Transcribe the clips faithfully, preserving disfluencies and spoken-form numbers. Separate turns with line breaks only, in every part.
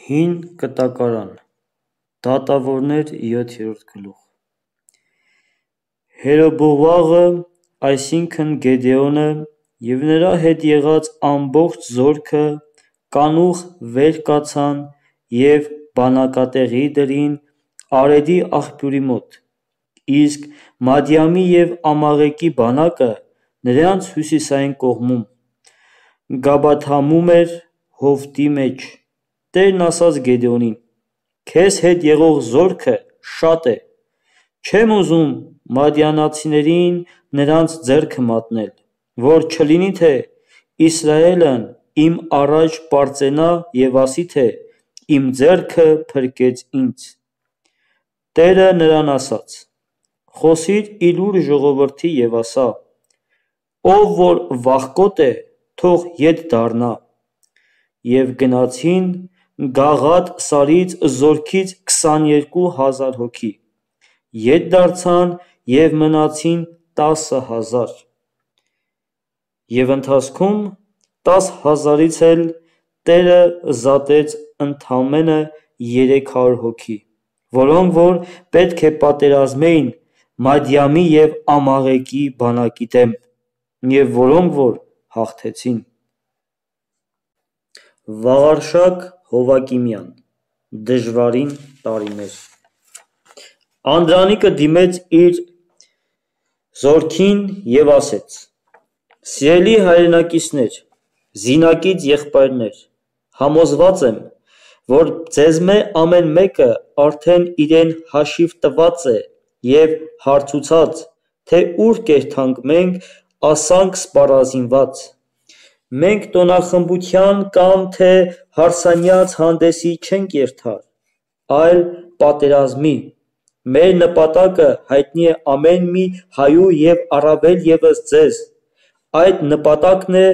Հին կտակարան, դատավորներ յոթերորդ գլուխ։ Հերոբողաղը, այսինքն Գեդեոնը և նրա հետ եղած ամբողջ զորքը կանուխ վեր կացան և բանակատեղի դրին Արեդի աղբյուրի մոտ, իսկ Մադիամի և Ամաղեկի բանակը նրանց հյուսիսային կողմում, Գաբաթամում էր հովտի մեջ։ Տերն ասաց Գեդեոնին. «Քեզ հետ եղող զորքը շատ է, չեմ ուզում մադիանացիներին նրանց ձեռքը մատնել, որ չլինի թե Իսրայելն իմ առաջ պարծենա և ասի թե իմ ձեռքը փրկեց ինձ»։ Տերը նրան ասաց. «Խոսիր ի լուր ժողովրդի և ասա. ով որ վախկոտ է, թող ետ դառնա»։ Եվ գնացին Գաղադ սարից զորքից քսաներկու հազար հոգի, ետ դարձան և մնացին տասը հազար։ Եվ ընթացքում տասը հազարից էլ Տերը զատեց ընդամենը երեք հարյուր հոգի, որոնք որ պետք է պատերազմեին Մադիամի և Ամաղեկի բանակի դեմ, և որոնք որ հաղթեցին։ Վաղարշակ Հովակիմյան, դժվարին տարիներ։ Անդրանիկը դիմեց իր զորքին և ասեց. «Սիրելի հայրենակիցներ, զինակից եղբայրներ, համոզված եմ, որ ձեզմե ամեն մեկը արդեն իրեն հաշիվ տված է և հարցուցած, թե ուր կերթանք մենք ասանք սպառազինված: Մենք տոնախմբության կամ թե հարսանյաց հանդեսի չենք երթար, այլ պատերազմի: Մեր նպատակը հայտնի է ամեն մի հայու և առավել ևս ձեզ: Այդ նպատակն է,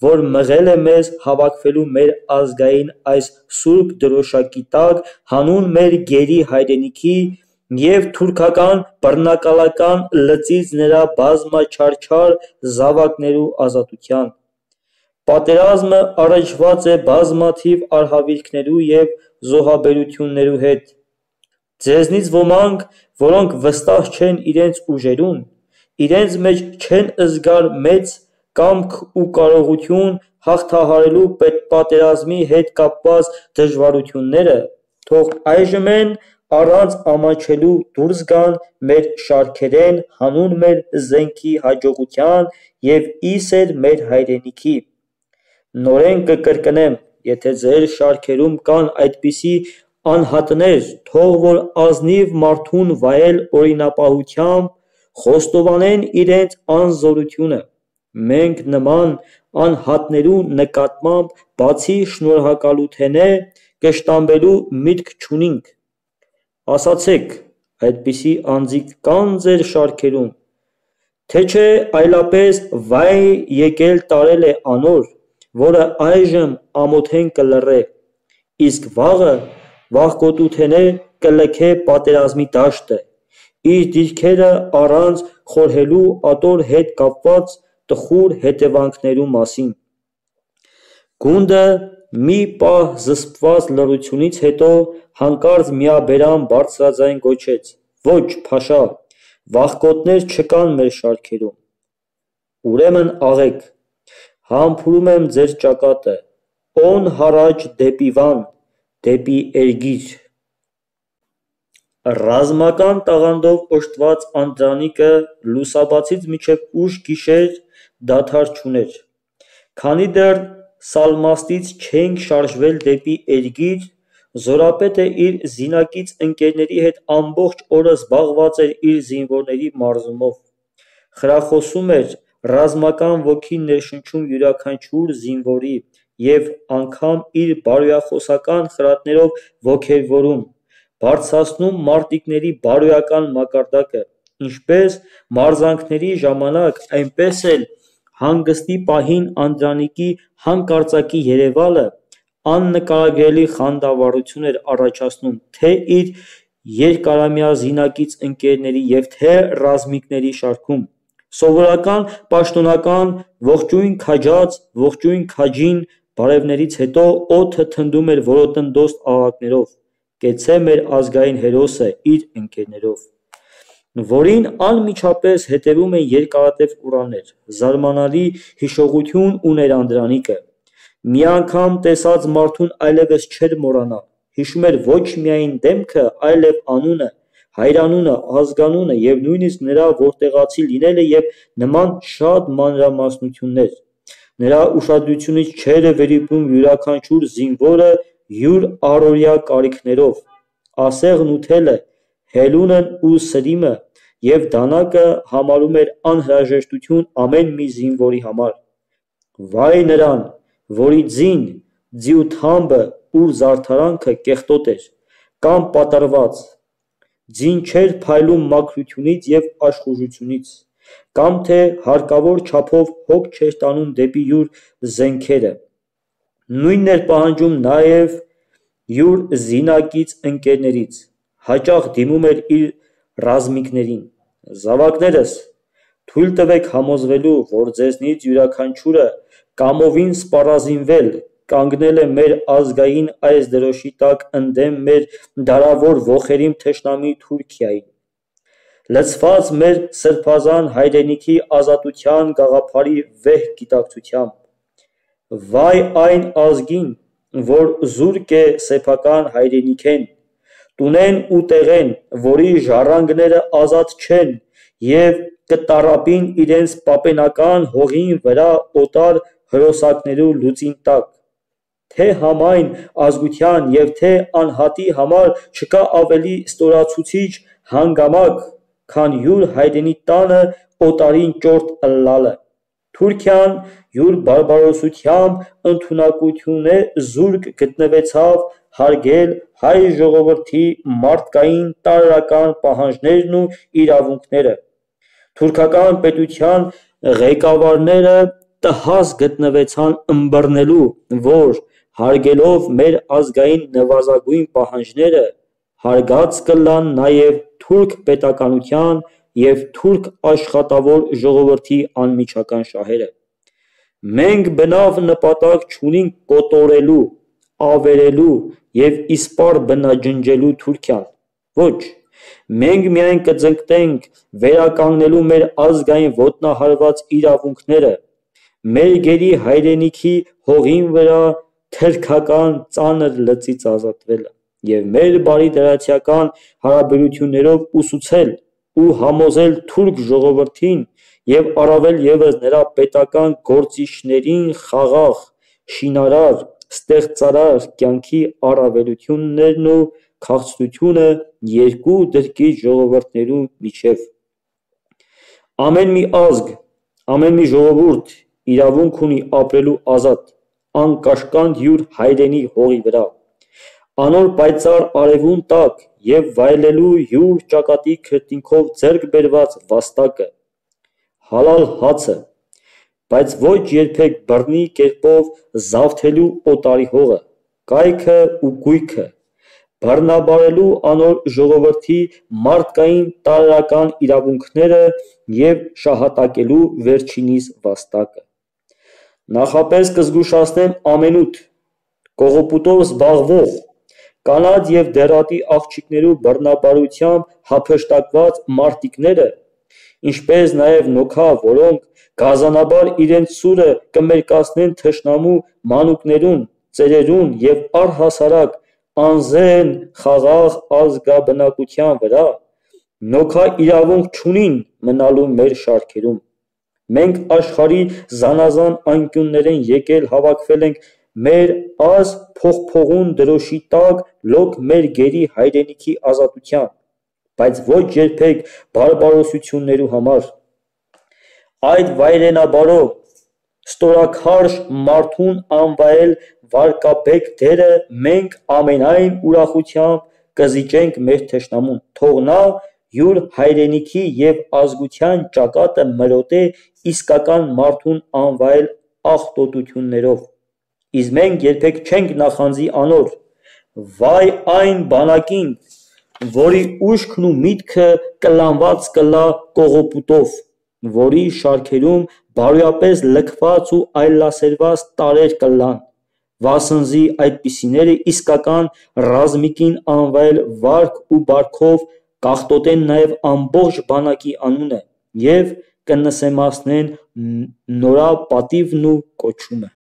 որ մղել է մեզ հավաքվելու մեր ազգային այս սուրբ դրոշակի տակ հանուն մեր գերի հայրենիքի և թուրքական բռնակալական լծից նրա բազմաչարչար զավակներու ազատության: Պատերազմը առնչված է բազմաթիվ արհավիրքներու և զոհաբերություններու հետ: Ձեզնից ոմանք, որոնք վստահ չեն իրենց ուժերուն, իրենց մեջ չեն զգար մեծ կամք ու կարողություն հաղթահարելու պատերազմի հետ կապված դժվարությունները, թող այժմեն առանց ամաչելու դուրս գան մեր շարքերեն հանուն մեր զենքի հաջողության և ի սեր մեր հայրենիքի: Նորեն կկրկնեմ, եթե ձեր շարքերում կան այդպիսի անհատներ, թող որ ազնիվ մարդուն վայել օրինապահությամբ, խոստովանեն իրենց անզորությունը: Մենք նման անհատներու նկատմամբ բացի շնորհակալութենէ կշտամբելու միտք չունինք: Ասացեք, այդպիսի անձինք կա՞ն ձեր շարքերում: Թե չէ այլապես վայ եկել տարել է անոր, որը այժմ ամոթեն կլռե, իսկ վաղը վախկոտութենէ կլքե պատերազմի դաշտը, իր դիրքերը առանց խորհելու ատոր հետ կապված տխուր հետևանքներու մասին: Գունդը մի պահ զսպված լռությունից հետո հանկարծ միաբերան բարձրաձայն գոչեց. «Ոչ, Փաշա, վախկոտներ չկան մեր շարքերում»: Ուրեմն աղեք, համբուրում եմ ձեր ճակատը, օն հառաջ դեպի վան, դեպի Էրգիր»: Ռազմական տաղանդով օժտված Անդրանիկը լուսաբացից մինչև ուշ գիշեր դադար չուներ: Քանի դեռ Սալմաստից չէինք շարժվել դեպի Էրգիր, զորապետը իր զինակից ընկերների հետ ամբողջ օրը զբաղված էր իր զինվորների մարզումով: Խրախուսում էր, ռազմական ոգի ներշնչում յուրաքանչյուր զինվորի և անգամ իր բարոյախոսական խրատներով ոգևորում, բարձրացնում մարտիկների բարոյական մակարդակը, ինչպես մարզանքների ժամանակ, այնպես էլ հանգստի պահին Անդրանիկի հանկարծակի երևալը աննկարագրելի խանդավառություն էր առաջացնում թե իր երկարամյա զինակից ընկերների և թե ռազմիկների շարքում: Սովորական պաշտոնական «ողջույն քաջած, ողջույն քաջին» բարևներից հետո օդը թնդում էր որոտննդոս աղաղակներով, կեցցե մեր ազգային հերոսը իր ընկերներով, որին անմիջապես հետևում են երկարատև ուրաններ, զարմանալի հիշողություն ուներ Անդրանիկը, մի անգամ տեսած մարդուն այլևս չէր մոռանա, հիշում էր ոչ միայն դեմքը, այլև անունը, հայրանունը, ազգանունը և նույնիսկ նրա որտեղացի լինելը և նման շատ մանրամասնություններ, նրա ուշադրությունից չէր վերիպում յուրաքանչյուր զինվորը յուր առօրյա կարիքներով, ասեղն ու թելը, հելունն ու սրիմը և դանակը համարում էր անհրաժեշտություն ամեն մի զինվորի համար, վայ նրան, որի ձին, ձիութամբը ու զարդարանքը կեղտոտ էր, կամ պատռված, ձին չէր փայլում մաքրությունից և աշխուժությունից, կամ թե հարկավոր չափով հոգ չէր տանում դեպի յուր զենքերը, նույնն էր պահանջում նաև յուր զինակից ընկերներից, հաճախ դիմում էր իր ռազմիկներին, զավակներս, թույլ տվեք համոզվելու, որ ձեզնից յուրաքանչյուրը կամովին սպառազինվել, կանգնել է մեր ազգային այս դրոշի տակ ընդդեմ մեր դարավոր ոխերիմ թշնամի Թուրքիայի, լցված մեր սրբազան հայրենիքի ազատության գաղափարի վեհ գիտակցությամբ, վայ այն ազգին, որ զուրկ է սեփական հայրենիքեն, տունեն ու տեղեն, որի ժառանգները ազատ չեն և կտառապին իրենց պապենական հողին վրա օտար հրոսակներու լուծին տակ, թե համայն ազգության և թե անհատի համար չկա ավելի ստորացուցիչ հանգամանք, քան յուր հայրենի տանը օտարին ճորտ ըլլալը, Թուրքիան յուր բարբարոսությամբ ընդունակութենէ զուրկ գտնվեցավ հարգել հայ ժողովրդի մարդկային տարրական պահանջներն ու իրավունքները, թուրքական պետության ղեկավարները տհաս գտնվեցան ըմբռնելու, որ հարգելով մեր ազգային նվազագույն պահանջները, հարգած կլան նաև թուրք պետականության և թուրք աշխատավոր ժողովրդի անմիջական շահերը, մենք բնավ նպատակ չունենք կոտորելու, ավերելու և իսպառ բնաջնջելու Թուրքիան, ոչ, մենք միայն կձգտենք վերականգնելու մեր ազգային ոտնահարված իրավունքները, մեր գերի հայրենիքի հողին վրա թրքական ծանր լծից ազատվելը և մեր բարիդրացիական հարաբերություններով ուսուցել ու համոզել թուրք ժողովրդին և առավել ևս նրա պետական գործիչներին խաղաղ, շինարար, ստեղծարար կյանքի առավելություններն ու քաղցրությունը երկու դրկից ժողովուրդներու միջև, ամեն մի ազգ, ամեն մի ժողովուրդ իրավունք ունի ապրելու ազատ, անկաշկանդ յուր հայրենի հողի վրա, անոր պայծառ արևուն տակ և վայելելու յուր ճակատի քրտինքով ձեռք բերված վաստակը, հալալ հացը, բայց ոչ երբեք բռնի կերպով զավթելու օտարի հողը, կայքը ու գույքը, բռնաբարելու անոր ժողովրդի մարդկային տարրական իրավունքները և շահատակելու վերջինիս վաստակը, նախապես կզգուշացնեմ ամենուդ, կողոպուտով զբաղվող, կանանց և դեռատի աղջիկներու բռնաբարությամբ հափշտակված մարտիկները, ինչպես նաև նոքա, որոնք գազանաբար իրենց սուրը կմերկացնեն թշնամու մանուկներուն, ծերերուն և առհասարակ անզեն խաղաղ ազգաբնակության վրա, նոքա իրավունք չունին մնալու մեր շարքերում, մենք աշխարհի զանազան անկյուններէն եկել հավաքվել ենք մեր այս փողփողուն դրոշի տակ լոկ մեր գերի հայրենիքի ազատության, բայց ոչ երբեք բարբարոսություններու համար, այդ վայրենաբարո, ստորաքարշ մարդուն անվայել վարկաբեկ դերը մենք ամենայն ուրախությամբ կզիջենք մեր թշնամուն, թող նա յուր հայրենիքի և ազգության ճակատը մրոտե իսկական մարդուն անվայել աղտոտություններով, իսկ մենք երբեք չենք նախանձի անոր, վայ այն բանակին, որի ուշքն ու միտքը կլանված կլա կողոպուտով, որի շարքերում բարոյապես լքված ու այլասերված տարրեր կլան, վասնզի այդպիսիները իսկական ռազմիկին անվայել վարք ու բարքով կաղտոտեն նաև ամբողջ բանակի անունը և կնսեմացնեն նորապատիվն ու կոչումը: